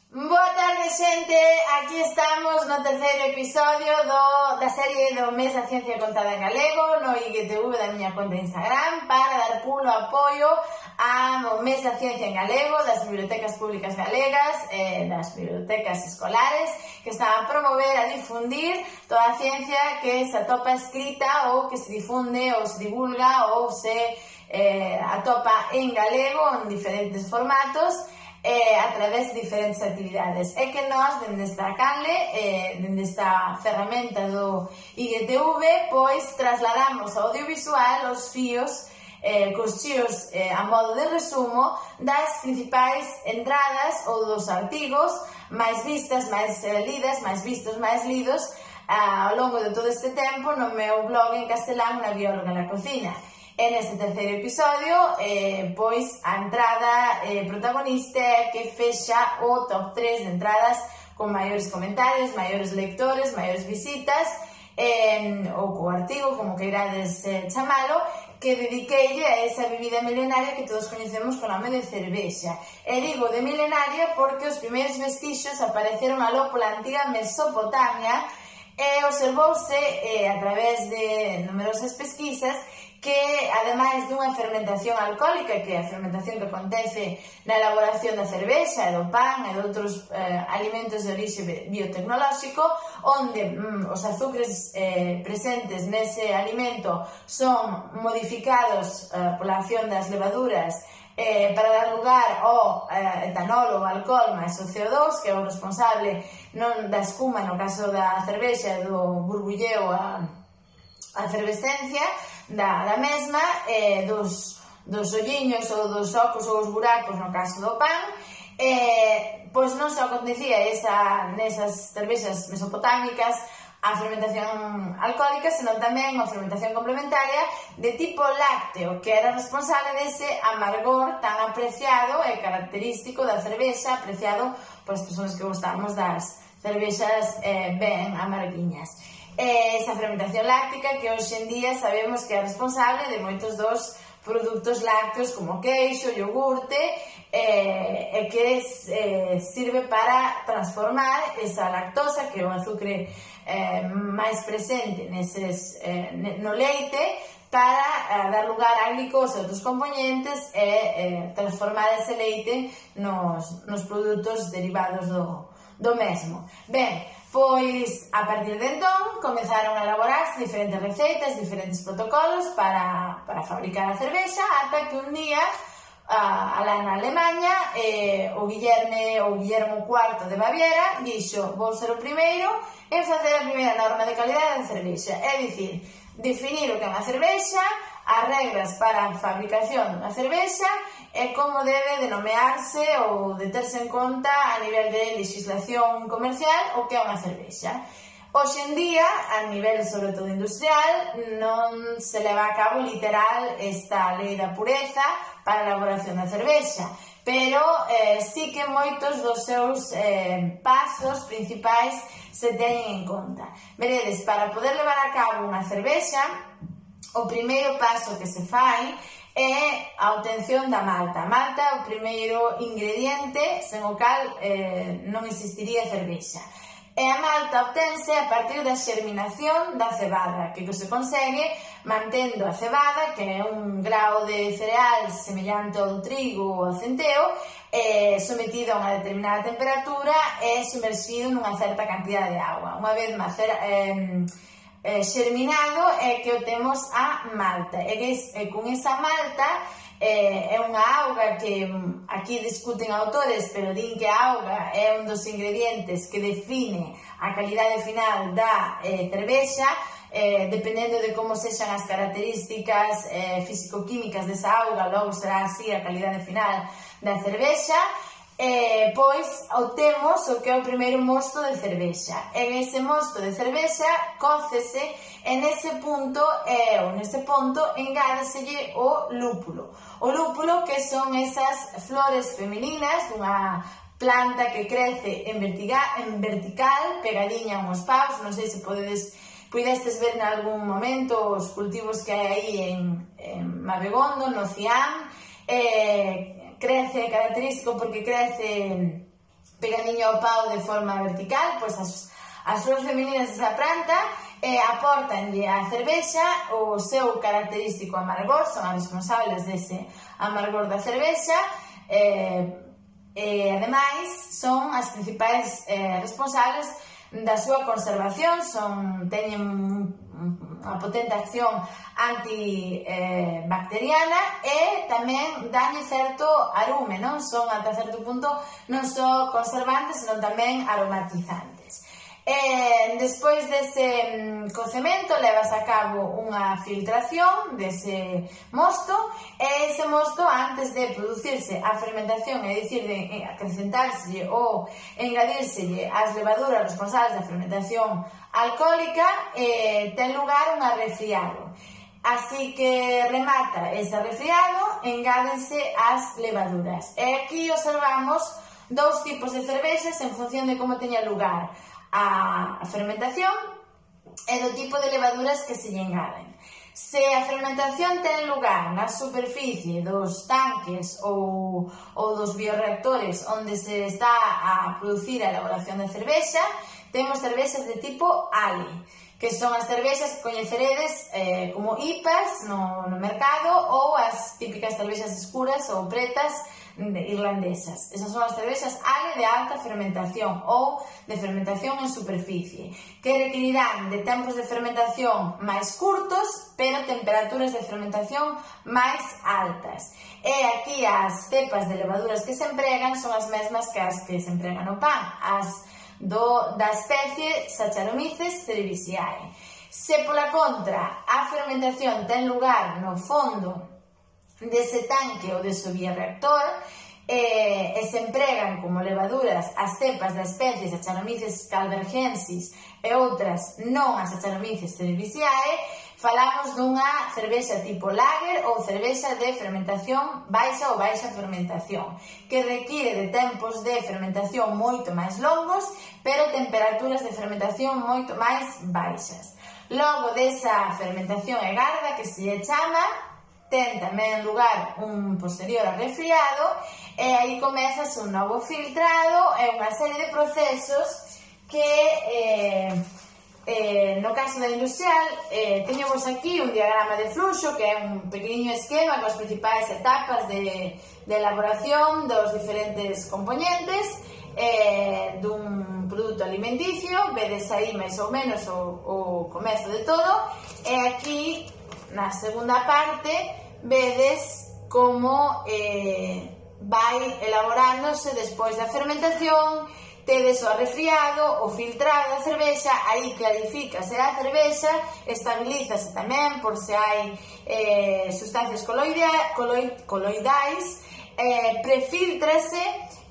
Boa tarde, xente, aquí estamos no terceiro episodio da serie do Mes da Ciencia Contada en Galego no IGTV da miña conta de Instagram para dar pulo apoio ao Mes da Ciencia en Galego das bibliotecas públicas galegas das bibliotecas escolares que están a promover, a difundir toda a ciencia que se atopa escrita ou que se difunde ou se divulga ou se atopa en galego en diferentes formatos a través de diferentes actividades. É que nós, dende esta canle, dende esta ferramenta do IGTV, pois trasladamos ao audiovisual os fíos, cos chíos a modo de resumo das principais entradas ou dos artigos máis vistas, máis lidas, máis vistos, máis lidos ao longo de todo este tempo no meu blog en castelán Unha bióloga na cocina. En este terceiro episodio, pois, a entrada protagonista é que fecha o top 3 de entradas con maiores comentarios, maiores lectores, maiores visitas, ou co artigo, como queirades chamalo, que dediqueille a esa bebida milenaria que todos coñecemos con nome de cervexa. E digo de milenaria porque os primeiros vestixios apareceron aló pola antiga Mesopotamia e observouse a través de numerosas pesquisas que, ademais dunha fermentación alcohólica, que é a fermentación que acontece na elaboración da cervexa, do pan e de outros alimentos de orixe biotecnolóxico, onde os azúcares presentes nese alimento son modificados pola acción das levaduras para dar lugar ao etanol ou alcohol máis o CO2, que é o responsable non da espuma, no caso da cervexa, do burbulleo a efervescencia da mesma, dos olliños ou dos ocos ou os buracos no caso do pan, pois non só acontecía nesas cervexas mesopotámicas a fermentación alcohólica, senón tamén a fermentación complementaria de tipo lácteo, que era responsable dese amargor tan apreciado e característico da cervexa, apreciado polas persoas que gostamos das cervexas ben amarguiñas. Esa fermentación láctica que hoxe en día sabemos que é responsable de moitos dos produtos lácteos como queixo, iogurte, e que sirve para transformar esa lactosa, que é o azúcar máis presente no leite, para dar lugar á glicosa e outros componentes e transformar ese leite nos produtos derivados do mesmo. Ben, pois, a partir de entón, comezaron a elaborarse diferentes receitas, diferentes protocolos para fabricar a cervexa, ata que un día, alá na Alemanha, o Guillermo IV de Baviera dixo: vou ser o primeiro en facer a primeira norma de calidade de cervexa, é dicir, definir o que é unha cervexa, as regras para a fabricación dunha cervexa e como debe denomearse ou de terse en conta a nivel de legislación comercial o que é unha cervexa. Hoxe en día, a nivel sobre todo industrial, non se leva a cabo literal esta lei da pureza para a elaboración da cervexa, pero sí que moitos dos seus pasos principais se teñen en conta. Veredes, para poder levar a cabo unha cervexa, o primeiro paso que se fai é a obtención da malta. A malta é o primeiro ingrediente sen o cal non existiría cervexa. E a malta obtense a partir da xerminación da cebada, que se consegue mantendo a cebada, que é un grao de cereal semellante ao do trigo ou ao centeo, sometido a unha determinada temperatura e sumerxido nunha certa cantidad de agua. Unha vez máis xerminado é que obtemos a malta, e con esa malta é unha auga que aquí discuten autores, pero din que a auga é un dos ingredientes que define a calidade final da cervexa, dependendo de como sexan as características físico-químicas desa auga, logo será así a calidade final da cervexa. Pois obtemos o que é o primeiro mosto de cervexa. En ese mosto de cervexa cócese e nese ponto engádeselle o lúpulo. O lúpulo, que son esas flores femininas dunha planta que crece en vertical, pegadiña a uns paus. Non sei se pudestes ver en algún momento os cultivos que hai aí en Mabegondo, no Ciam. Crece, característico porque crece pegadiño ao pau de forma vertical, pois as flores femininas desa planta aportanlle á cervexa o seu característico amargor, son as responsables dese amargor da cervexa, e ademais son as principais responsables da súa conservación, teñen unha potente acción antibacteriana e tamén danlle certo arume, non son ata certo punto non só conservantes, senón tamén aromatizantes. Despois dese cocemento levas a cabo unha filtración dese mosto, e ese mosto, antes de producirse a fermentación, é dicir, de acrecentárselle ou engadírselle as levaduras responsables da fermentación alcohólica, ten lugar un arrefriado. Así que remata ese arrefriado, engádense as levaduras. E aquí observamos dous tipos de cervexas en función de como teña lugar a fermentación e do tipo de levaduras que se lle engaden. Se a fermentación ten lugar na superficie dos tanques ou dos bioreactores onde se está a producir a elaboración da cervexa, temos cervexas de tipo Ale, que son as cervexas que coñeceredes como IPAs no mercado, ou as típicas cervexas escuras ou pretas irlandesas. Esas son as cervexas Ale de alta fermentación ou de fermentación en superficie, que requerirán de tempos de fermentación máis curtos, pero temperaturas de fermentación máis altas. E aquí as cepas de levaduras que se empregan son as mesmas que as que se empregan no pan, as da especie Saccharomyces cerevisiae. Se pola contra a fermentación ten lugar no fondo dese tanque ou dese bioreactor e se empregan como levaduras as cepas da especie Saccharomyces calvergensis e outras non a Saccharomyces cerevisiae, falamos dunha cervexa tipo lager ou cervexa de fermentación baixa ou baixa fermentación, que require de tempos de fermentación moito máis longos, pero temperaturas de fermentación moito máis baixas. Logo desa fermentación e garda, que se lle chama, ten tamén lugar un posterior arrefriado, e aí comezas un novo filtrado e unha serie de procesos que no caso da industrial teñemos aquí un diagrama de fluxo, que é un pequeniño esquema con as principais etapas de elaboración dos diferentes componentes dun produto alimenticio. Vedes aí máis ou menos o comezo de todo, e aquí na segunda parte vedes como vai elaborándose despois da fermentación. Tedes o arrefriado, o filtrado da cervexa, aí clarifícase a cervexa, estabilízase tamén por se hai sustancias coloidais, prefiltrase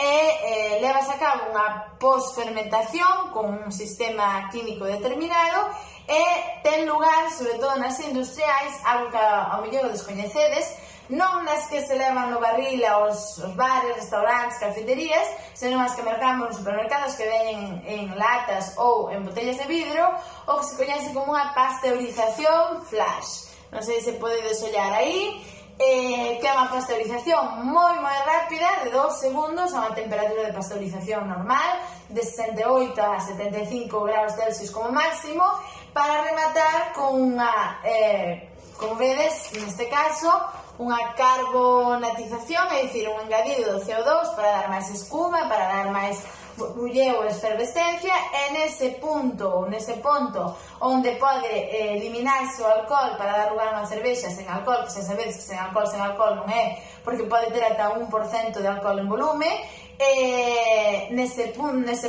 e levas a cabo unha posfermentación con un sistema químico determinado, e ten lugar, sobre todo nas industriais, algo que ao mellor descoñecedes, non nas que se levan no barril aos bares, restaurantes, cafeterías, senón as que mercamos nos supermercados, que veñen en latas ou en botellas de vidro, o que se coñece como unha pasteurización flash. Non sei se podedes ollar aí, que é unha pasteurización moi rápida, de 2 segundos, a unha temperatura de pasteurización normal, de 68 a 75 graus Celsius como máximo, para rematar con unha, como vedes, neste caso, unha carbonatización, é dicir, un engadido do CO2 para dar máis espuma, para dar máis bulleo e efervescencia, e nese ponto onde pode eliminarse o alcohol para dar lugar a unha cervexa sen alcohol, que xa sabedes que sen alcohol non é, porque pode ter ata 1% de alcohol en volume, nese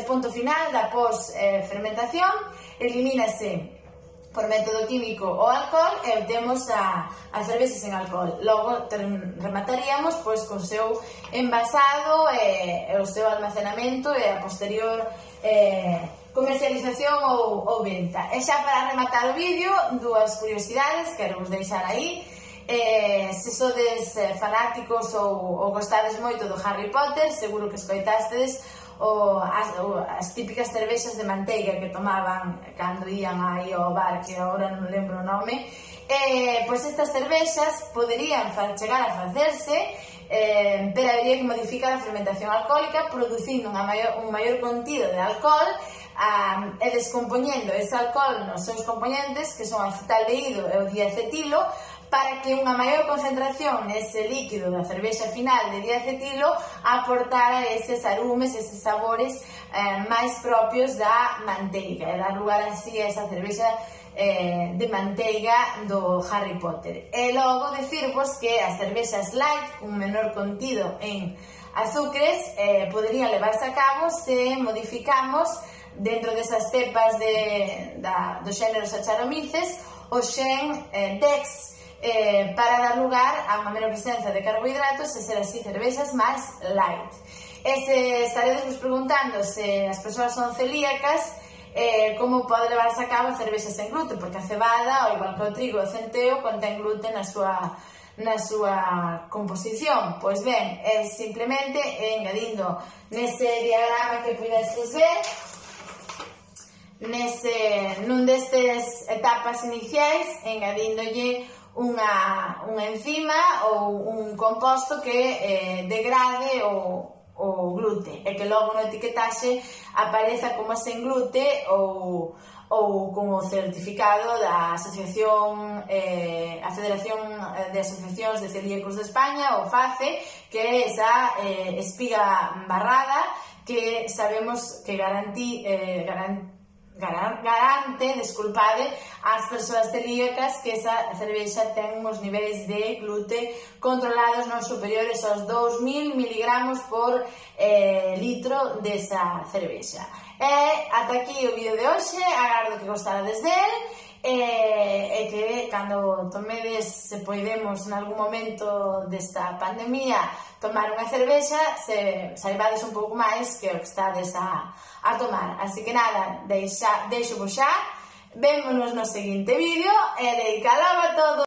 punto final da pos-fermentación elimínase por método químico o alcohol e temos a cervexa sen alcohol. Logo remataríamos pois con o seu envasado e o seu almacenamento e a posterior comercialización ou venta. E xa para rematar o vídeo, dúas curiosidades que quero vos deixar aí. Se sodes fanáticos ou gostades moito do Harry Potter, seguro que escoitastes as típicas cervexas de manteiga que tomaban cando ían aí ao bar, que agora non lembro o nome. Pois estas cervexas poderían chegar a facerse, pero habería que modificar a fermentación alcohólica producindo un maior contido de alcohol e descompoñendo ese alcohol nos seus componentes, que son o acetaldehído e o diacetilo, para que unha maior concentración nese líquido da cervexa final de diacetilo aportara eses arumes, eses sabores máis propios da manteiga, e dar lugar así a esa cervexa de manteiga do Harry Potter. E logo decirvos que as cervexas light, un menor contido en azúcares, poderían levarse a cabo se modificamos dentro desas cepas do xénero Saccharomyces o xen DEX, para dar lugar a unha menor presenza de carbohidratos e ser así cervexas máis light. Estaredes vos preguntando se as persoas son celíacas, como pode levarse a cabo cervexas sen gluten, porque a cebada, ao igual que o trigo e o centeo, contén gluten na súa composición. Pois ben, é simplemente engadindo nese diagrama que podedes ver, nun destes etapas iniciais, engadíndolle unha enzima ou un composto que degrade o glute, e que logo no etiquetaxe apareza como sen glute ou como certificado da Asociación, a Federación de Asociacións de Celíacos de España, o FACE, que é esa espiga barrada que sabemos que garante, desculpade, ás persoas celíacas que esa cervexa ten uns niveis de glute controlados non superiores aos 2000 miligramos por litro desa cervexa. E ata aquí o vídeo de hoxe, agardo que gostarades del, e que cando tomedes, se poidemos en algún momento desta pandemia tomar unha cervexa, saibades un pouco máis que o que estades a tomar. Así que nada, deixo vos xa, vémonos no seguinte vídeo e dedicalo a todo.